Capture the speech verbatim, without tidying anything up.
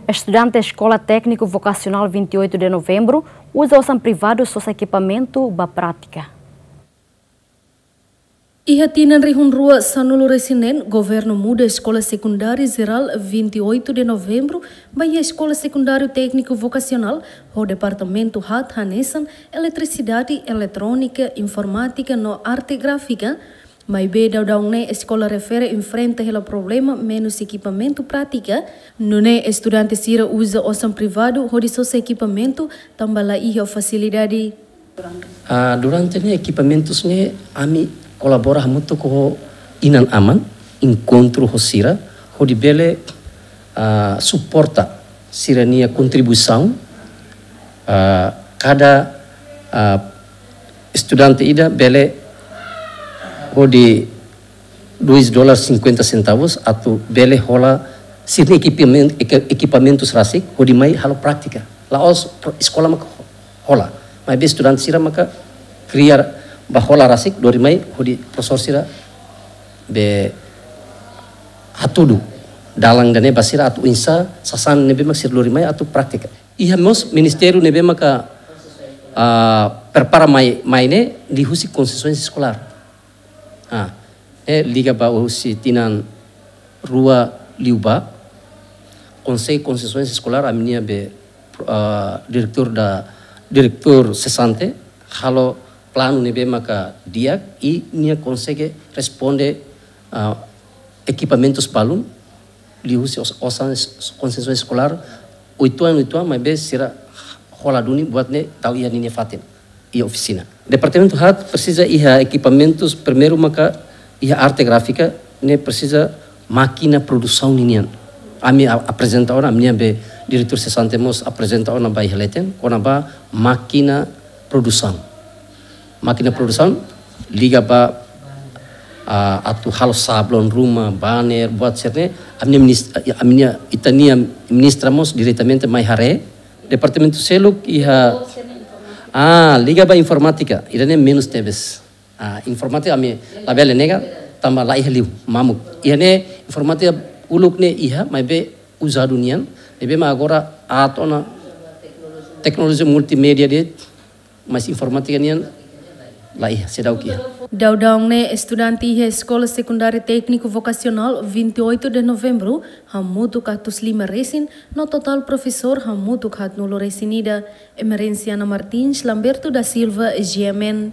Estudante Eskola Tékniku Vokasionál vinte e oito de Novembru uza osan privadu sosa ekipamentu ba prátika. Iha tinan rihun rua sanulu-resin-neen, governu muda Eskola Sekundáriu Jerál vinte e oito de Novembru ba iha Eskola Sekundáriu Tékniku Vokasionál, ho departamentu haat hanesan Eletrisidade, Eletrónika, Informátika no Arte Gráfika. Maibé daudaun ne'e eskola refere enfrenta hela problema menus ekipamentu prátika, nune'e estudante sira uza osan privadu hodi sosa ekipamentu, tanba la iha fasilidade. Ah, durante ne'e ekipamentus ne'e ami kolabora hamutuk ho inan-aman, enkontru ho sira, hodi bele, ah, suporta sira-nia kontribuisaun, ah, kada, ah, estudante ida bele hodi dois dólar cinquenta centavos atu bele hola sira-nia ekipamen-, eke-, ekipamentus rasik hodi mai halo prátika. La'ós pro-, eskola maka ho-, hola. Maibé estudante sira maka kriar ba hola rasik, lori mai hodi profesór sira be hatudu dalan ida-ne'e ba sira atu oinsá sasán ne'ebé mak sira lori mai atu prátika. Iha mós ministériu ne'ebé maka, ah, prepara mai, mai ne'e liuhusi konsesoens eskolár. Ah, ne'e liga ba husi tinan rua liubá, Konsellu Konsesoens Eskolár, ami-nia be, ah, diretór da, diretór sesante, halo planu ne'ebé maka di'ak, i nia konsege responde, ah, ekipamentus balun, liuhusi os-, osan es-, konsesoens eskolár, oituan, oituan, maibé sira hola duni buat ne'e tau iha ninia fatin, iha ofisina. Departamentu haat presiza iha ekipamentus, primeiru maka iha arte gráfika, ne'e presiza mákina produsaun ninian. Ami a-, aprezenta ona, ami-nia be diretór sesante mós aprezenta ona ba iha leten, kona-ba mákina produsaun. Mákina produsaun liga ba, ah, atu halo sablon ruma, banner, buat sira-ne'e, ami-nia minis-, ami-nia, ita-nia ministra mós diretamente mai haree. Departamentu seluk iha, ah, liga ba informátika, ida-ne'e menus tebes. Ah, informátika ami labele nega, tanba la iha liu, mamuk. Iha ne'e informátika uluk ne'e iha, maibé uzadu nian, ne'ebé mak agora aat ona teknolojia multimédia de'it, mas informátika nian la iha, seidauk iha. Daudaun ne'e estudante iha Eskola Sekundáriu Tékniku Vokasionál vinte e oito de Novembru hamutuk atus lima resin, no totál profesór hamutuk haatnulu-resin-ida. Emerenciana Martins, Lamberto da Silva, G M N.